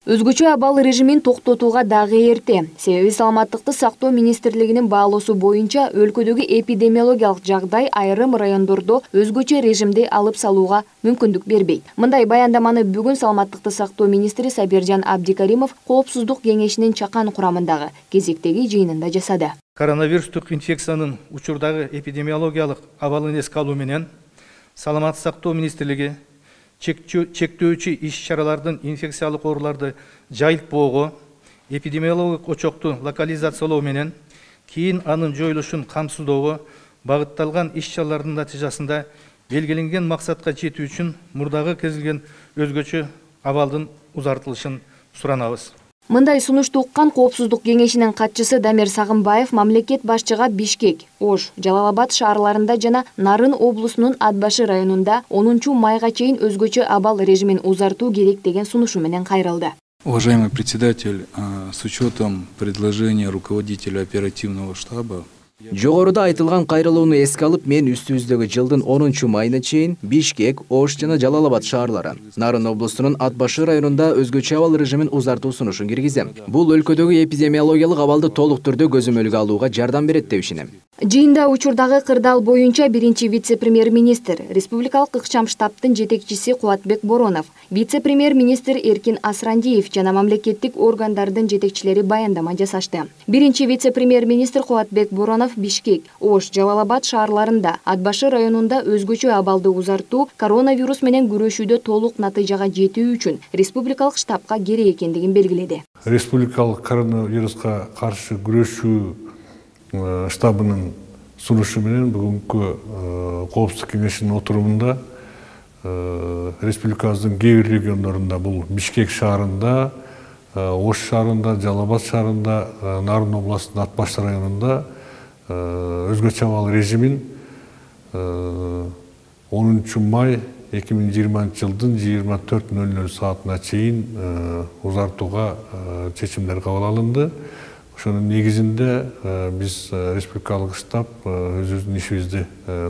Өзгөчө абал режимин токтотууга дагы эрте. Себеби саламаттыкты сактоо министрлигинин баалоосу боюнча өлкөдөгү эпидемиологиялык жагдай айрым райондордо өзгөчө режимди алып салууга мүмкүндүк бербейт. Мындай баяндаманы бүгүн саламаттыкты сактоо министри Сабиржан Абдикаримов Коопсуздук кеңешинин чакан курамындагы кезектеги жыйынында жасады. Коронавирустук инфекциянын учурдагы эпидемиологиялык абалын эске алуу менен саламаттык сактоо министрлиги чектөөчү иш-чаралардын инфекциялык ооруларды жайылтпоого, эпидемиологиялык очокту локализациялоо менен кийин анын жоюлушун камсыздоого багытталган иш-чаралардын натыйжасында белгиленген максатка жетүү үчүн мурдагы көздөлгөн өзгөчө абалдын узартылышын суранабыз. Мындай сунушту уккан Коопсуздук кеңешинин катчысы Дамир Сагынбаев мамлекет башчыга Бишкек, Ош, Жалал-Абад шаарларында жана Нарын облусунун Ат Башы районунда 10 майга чейин өзгөчө абал режимин узартуу керек деген сунушу менен кайрылды. Уважаемый председатель, с учетом предложения руководителя оперативного штаба, Жогоруда айтылган кайрылууну эске алып, мен үстүбүздөгү жылдын 10 майына чейин Бишкек, Ош жана Жалал-Абад шаарлары, Нарын облусунун Ат Башы районунда өзгөчө абал режимин узартуу сунушун киргизем. Бул өлкөдөгү эпидемиологиялык абалды толук түрдө көзөмөлгө алууга жардам берет деп ишенем. Жыйында учурдагы кырдаал боюнча биринчи вице-премьер-министр, республикалык ыкчам штабтын жетекчиси Кубатбек Боронов, вице-премьер-министр Эркин Асрандиев жана мамлекеттик органдардын жетекчилери баяндама жасашты. Биринчи вице-премьер-министр Кубатбек Боронов Бишкек, Ош, Жалал-Абад шаарларында, Ат Башы районунда өзгөчө абалды узартуу коронавирус менен күрөшүүдө толук натыйжага жетүү үчүн республикалык штабка керек экендигин белгиледи. Республикалык коронавируска каршы күрөшүү штабынын сунушу менен бүгүнкү Коопсуздук кеңешинин отурумунда республикабыздын кээ бир региондорунда, бул Бишкек шаарында, Ош шаарында, Жалал-Абад шаарында, Нарын областынын Ат Башы районунда өзгөчө абал режимин 10 май 2020 жылдын 24:00 саатына чейин узартууга чечимдер кабыл алынды. Ошонун негизинде биз республикалык штаб өзүбүздүн ишибизди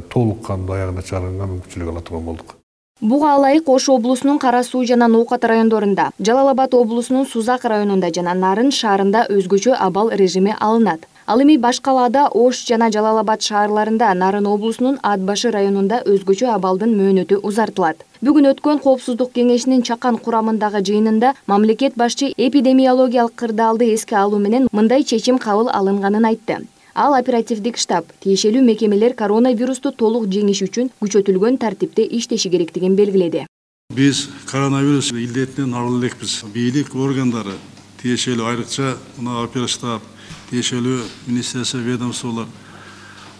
толук кандуу аягына чыгарганга мүмкүнчүлүк ала турган болдук. Буга ылайык Ош облусунун Кара Суу жана Ноокат райондорунда, Жалал-Абад облусунун Сузак районунда жана Нарын шаарында өзгөчө абал режими алынат. Ал эми башкалаада Ош жана Жалал-Абад шаарларында, Нарын облусунун Ат Башы районунда өзгөчө абалдын мөөнөтү узартылат. Бүгүн өткөн Коопсуздук кеңешинин чакан курамындагы жыйынында мамлекет башчы эпидемиологиялык кырдаалды эске алуу менен мындай чечим кабыл алынганын айтты. Ал оперативдик штаб тиешелүү мекемелер коронавирусту толук жеңиш үчүн күчөтүлгөн тартипте иштеши керектигин белгиледи. Биз коронавирус илдетинен арылы элекпиз. Бийлик органдары тиешелүү, айрыкча мына оперативдик штаб, тиешелүү министрликтер, ведомстволор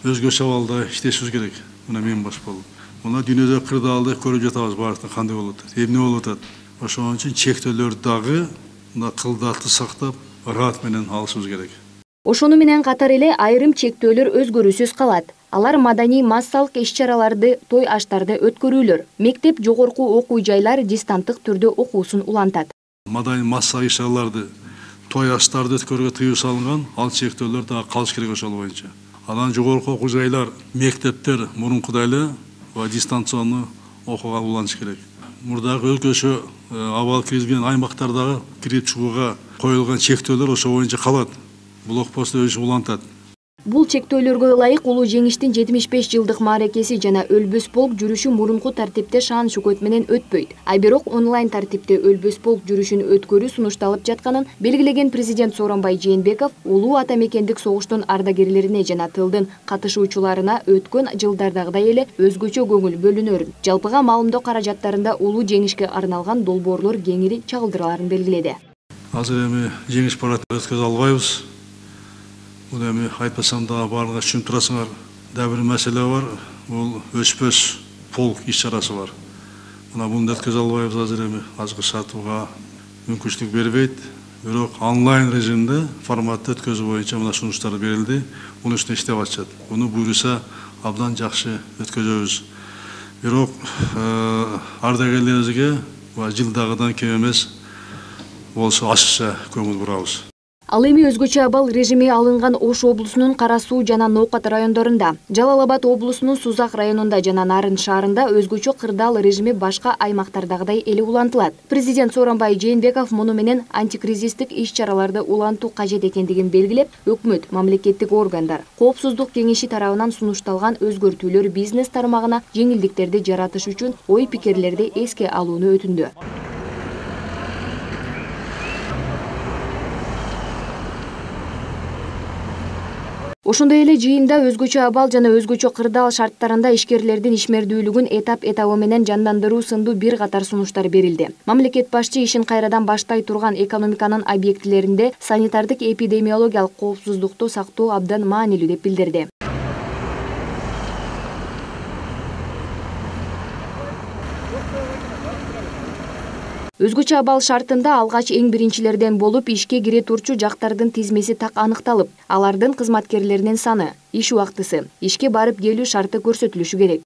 өзгөчө абалда иштешибиз керек. Мына мен баш болуп. Мына дүйнөдө кырдаалды көрүп жатабыз, баардыгы кандай болуп атат, эмне болуп атат. Ошон үчүн чектөөлөрдү дагы мына кылдаатты сактап, ырат менен алышыбыз керек. Ошону менен катар эле айрым чектөөлөр өзгөрүүсүз калат. Алар маданий массалык иш-чараларды, той аштарды өткөрүүлөр, мектеп, жогорку окуу жайлар дистанттык түрдө окуусун улантат. Маданий массалык иш-чараларды, той аштарды өткөрүүгө тыюу салынган, ал чектөөлөр дагы калыш керек ошол боюнча. Анан жогорку окуу жайлар, мектептер мурункудай эле дистанциондуу окууга уланыш керек. Мурдагы өзгөчө абал киргизген аймактардагы кирип чыгууга коюлган чектөөлөр ошол боюнча калат. Блокпост өзү улантат. Бул чектөөлөргө ылайык улуу жеңиштин 75 жылдык мааракеси жана Өлбөс полк жүрүшү мурунку тартипте шаан шөкөт менен өтпөйт. А бирок онлайн тартипте Өлбөс полк жүрүшүн өткөрүү сунушталып жатканын белгилеген президент Сооронбай Жээнбеков улуу ата мекендик согуштун ардагерлерине жана тылдын катышуучуларына өткөн жылдардагыдай эле өзгөчө көңүл бөлүнөрүн, жалпыга маалымдоо каражаттарында улуу жеңишке арналган долбоорлор кеңири чагылдырыларын белгиледи. Азыр эми жеңиш парадын өткөзө албайбыз. Бул эми айтпасам да барлыгы түшүнүп турасыңар. Дагы бир маселе бар. Бул өчпөс полк иш-чарасы бар. Мына буну өткөзө албайбыз азыр эми. Азыркы шартууга мүмкүнчүлүк бербейт. Бирок онлайн режимде форматты өткөзүү боюнча мына сунуштар берилди. Муну үстүнө иштеп атышат. Буну буйруса абдан жакшы өткөзөбүз. Бирок ардагерлерибизге жылдагыдан кем эмес болсо ашыкча көңүл бурабыз. Ал эми өзгөчө абал режими алынган Ош облусунун Кара Суу жана Ноокат райондорунда, Жалал-Абад облусунун Сузак районунда жана Нарын шаарында өзгөчө кырдаал режими башка аймактардагыдай эле улантылат. Президент Сооронбай Жээнбеков муну менен антикризистик иш-чараларды улантуу кажет экендигин белгилеп, өкмөт, мамлекеттик органдар, Коопсуздук кеңеши тарабынан сунушталган өзгөртүүлөр бизнес тармагына жеңилдиктерди жаратыш үчүн ой-пикирлерди эске алууну өтүндү. Ошондой эле жыйында өзгөчө абал жана өзгөчө кырдаал шарттарында ишкерлердин ишмердүүлүгүн этап менен жандандыруу сындуу бир катар сунуштар берилди. Мамлекет башчы ишин кайрадан баштай турган экономиканын объектилеринде санитардык эпидемиологиялык коопсуздукту сактоо абдан маанилүү деп билдирди. Өзгөчө абал шартында алгач эң биринчилерден болуп ишке кире турчу жактардын тизмеси так аныкталып, алардын кызматкерлеринин саны, иш убактысы, ишке барып келүү шарты көрсөтүлүшү керек.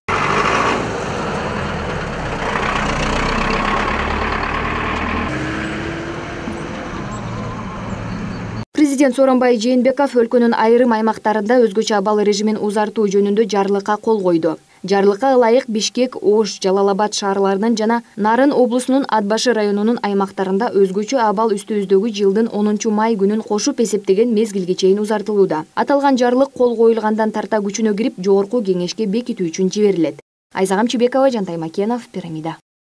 Президент Сооронбай Жээнбеков өлкөнүн айрым аймактарында өзгөчө абал режимин узартуу жөнүндө жарлыкка кол койду. Жарлыкка ылайык Бишкек, Ош, Жалал-Абад шаарларынын жана Нарын облусунун Ат башы районунун аймактарында өзгөчө абал үстүбүздөгү жылдын 10 май күнүн кошуп эсептеген мезгилге чейин узартылууда. Аталган жарлык кол коюлгандан тарта күчүнө кирип, жогорку кеңешке бекитүү үчүн жиберилет. Айзагам Чебекова, Жантай Макенов, Пирамида.